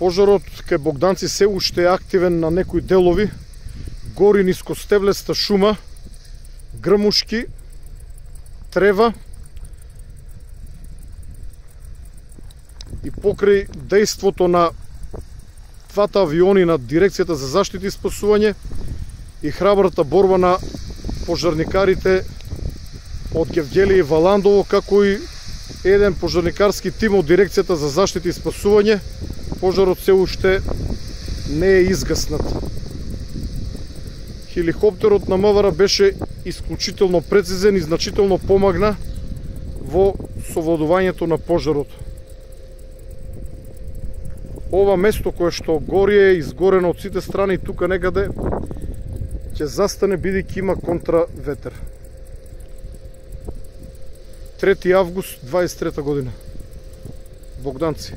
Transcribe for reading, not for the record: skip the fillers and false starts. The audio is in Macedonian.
Пожарот кај Богданци се уште е активен на некои делови. Гори нискостеблеста шума, грмушки, трева и покрај дејството на двата авиони на Дирекцијата за заштита и спасување и храбрата борба на пожарникарите од Гевгели и Валандово, како и еден пожарникарски тим од Дирекцијата за заштита и спасување, пожарот се уште не е изгаснат. Хеликоптерот на МВР беше исклучително прецизен и значително помагна во совладувањето на пожарот. Ова место кое што гори е изгорено од сите страни, тука некаде ќе застане бидејќи има контраветер. 3 август 23 година. Богданци.